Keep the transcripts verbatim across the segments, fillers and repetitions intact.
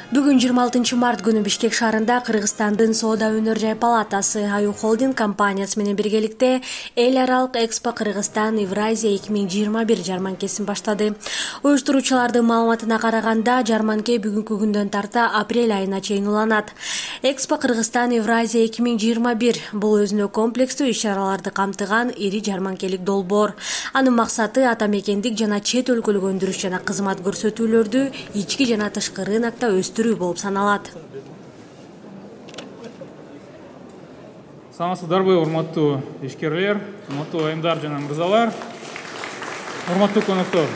Бүгүн жыйырма алтынчы март күнү Бишкек шаарында Кыргызстандын Соода өнөр жай палатасы Аю Холдинг компаниясы менен биргеликте эл аралык Экспо Кыргызстан Евразия эки миң жыйырма бир жарманкесин баштады. Уюштуруучулардын маалыматына караганда, жарманке бүгүнкү күндөн тарта апрель айына чейин уланат. Экспо Кыргызстан Евразия эки миң жыйырма бир бул өзүнө комплекстүү иш-чараларды камтыган ири жарманкелик долбоор. Анын максаты ата мекендик жана чет өлкөлүк өндүрүш жана кызмат көрсөтүүлөрдү ички жана тышкы рынокто өстүрүү болуп саналат. Саламатсыздарбы, урматтуу ишкерлер, урматтуу айымдар жана мырзалар, урматтуу коноктору.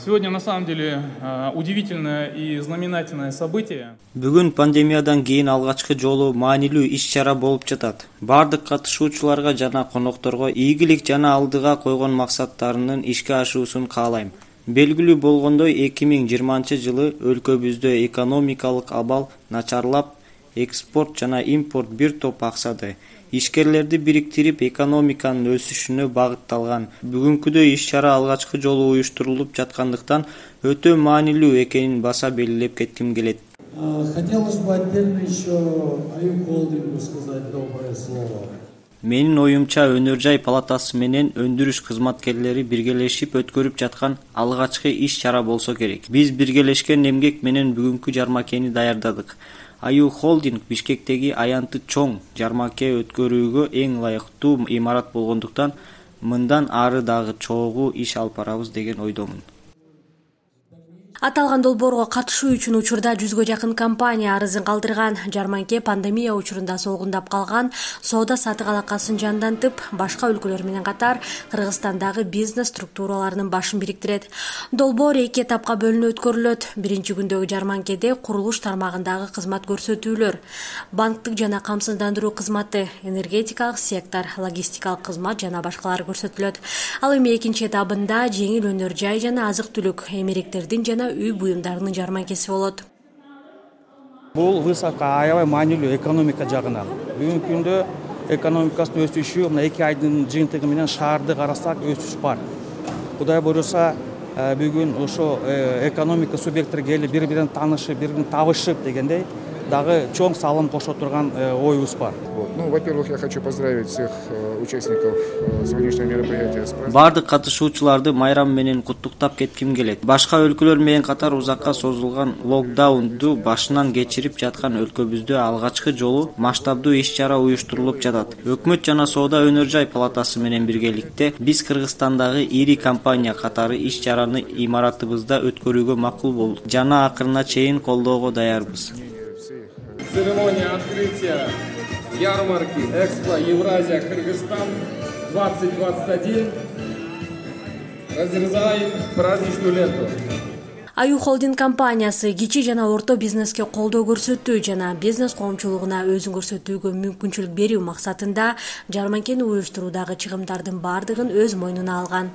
Сегодня на самом деле удивительное и знаменательное событие. Бүгүн пандемиядан кийин алгачкы жолу маанилүү иш-чара болуп жатат. Бардык катышуучуларга жана конокторго ийгилик жана алдыга койгон максаттарынын ишке ашуусун каалайм. Белгилүү болгондой, эки миң жыйырманчы жылы өлкөбүздө экономикалык абал начарлап, экспорт жана импорт бир топ аксады. Ишкерлерди бириктирип, экономиканын өсүшүнө багытталган бүгүнкүдөй иш-чара алгачкы жолу уюштурулуп жаткандыктан өтө маанилүү экенин баса белгилеп кетким келет. Хотелось бы отдельно еще Аю Холдингу сказать доброе слово. Менин оюмча, өнөр жай палатасы менен өндүрүш кызматкерлери биргелешип өткөрүп жаткан алгачкы иш-чара болсо керек. Биз биргелешкен эмгек менен бүгүнкү жармакени даярдадык. Аю Холдинг Бишкектеги аянты чоң жармаке өткөрүүгө эң ылайыктуу имарат болгондуктан мындан ары дагы чогуу иш алып барабыз деген ойдомун. Аталган долбоорго катышуу үчүн учурда жүзгө жакын компания арызын калтырган. Жарманке пандемия учурунда солгундап калган соода сатык алакасын жандантып, башка өлкөлөр менен катар Кыргызстандагы бизнес структураларынын башын бириктирет. Долбоор эки этапка бөлүнүп өткөрүлөт. Биринчи күндөгү жарманкеде курулуш тармагындагы кызмат көрсөтүүлөр, банктык жана камсыздандыруу кызматы, энергетикалык сектор, логистикалык кызмат жана башкалары көрсөтүлөт. Ал эми экинчи этабында жеңил өнөр жай жана азык-түлүк, эмеректердин жана үй буюмдарынын жарманкеси болот. Бул высоко аябай маанилүү экономика жагынан. Бүгүнкү күндө экономикасынын өсүшү мына эки айдын жыйынтыгы менен шаарды карасак өсүш бар. Кудай буюрса, бүгүн ошо экономика субъекттери келип бири-бирин таанышып, бири-бирин табышып дегендей дагы чоң салым кошо турган оюбуз бар. Ну, во-первых, я хочу поздравить всех участников сегодняшнего мероприятия. Бардык катышуучуларды майрам менен куттуктап кетким келет. Башка өлкөлөр менен катар узакка созулган локдаунду башынан кечирип жаткан өлкөбүздө алгачкы жолу масштабдуу иш-чара уюштурулуп жатат. Өкмөт жана Соода өнөр жай палатасы менен биргеликте биз Кыргызстандагы ири компания катары иш-чараны имаратыбызда өткөрүүгө макул болдук жана акырына чейин колдоого даярбыз. Церемония открытия ярмарки Экспо Евразия Кыргызстан двадцать двадцать один. Разрезаем праздничную ленту. Аю Холдинг компаниясы кичи жана орто бизнеске колдоо көрсөтүү жана бизнес коомчулугуна өзүн көрсөтүүгө мүмкүнчүлүк берүү максатында жарманкени уюштуруудагы чыгымдардын бардыгын өз мойнуна алган.